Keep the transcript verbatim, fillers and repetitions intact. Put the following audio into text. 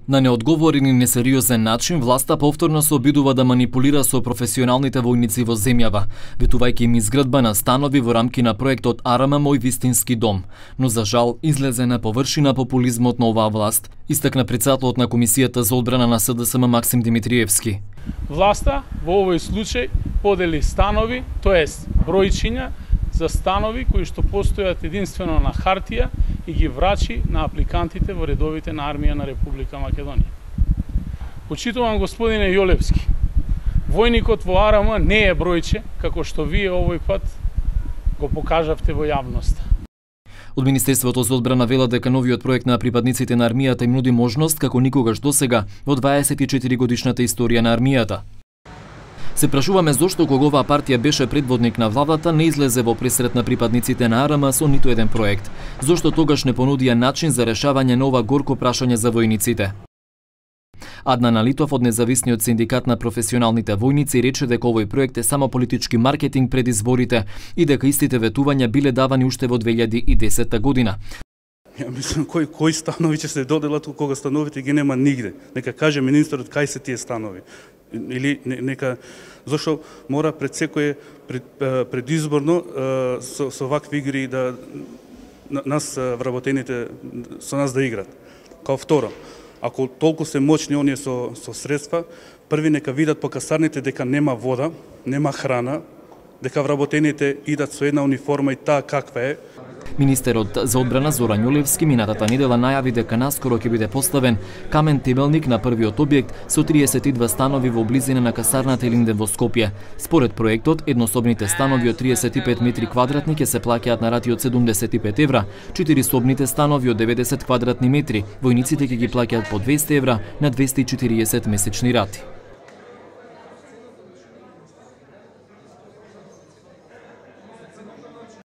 На неодговорен и несериозен начин, власта повторно се обидува да манипулира со професионалните војници во земјава, ветувајќи им изградба на станови во рамки на проектот Арам Мој вистински дом. Но за жал, излезе на површина популизмот на оваа власт, истакна председателот на Комисијата за одбрана на С Д С М Максим Димитриевски. Власта во овој случај подели станови, тоест бројчиња за станови кои што постојат единствено на хартија и ги врачи на апликантите во редовите на армија на Република Македонија. Почитувам господине Јолевски, војникот во Арам не е бројче, како што вие овој пат го покажавте во јавноста. Од Министерството за одбрана велат дека новиот проект на припадниците на армијата им нуди можност како никогаш досега во дваесет и четири годишната историја на армијата. Се прашуваме зошто кога оваа партија беше предводник на владата не излезе во пресрет на припадниците на Арам со ниту еден проект. Зошто тогаш не понудија начин за решавање на ова горко прашање за војниците? Аднан Алитов од Независниот синдикат на професионалните војници рече дека овој проект е само политички маркетинг пред изборите и дека истите ветувања биле давани уште во две илјади и десета година. Ја мислам, кои, кои станови ќе се доделат кога становите ги нема нигде. Нека каже министерот кај се тие станови. Или нека, зашто мора пред секој пред, предизборно со, со вакви игри да нас вработените со нас да играт. Као второ, ако толку се моćни оние со, со средства, први нека видат по касарните дека нема вода, нема храна, дека вработените идат со една униформа и таа каква е. Министерот за одбрана Зоран Јолевски минатата недела најави дека наскоро ќе биде поставен камен темелник на првиот објект со триесет и две станови во близина на касарната Илинден во Скопје. Според проектот, еднособните станови од триесет и пет метри квадратни ќе се плаќаат на рати од седумдесет и пет евра, четирисобните станови од деветдесет квадратни метри, војниците ќе ги плаќаат по двесте евра на двесте и четириесет месечни рати.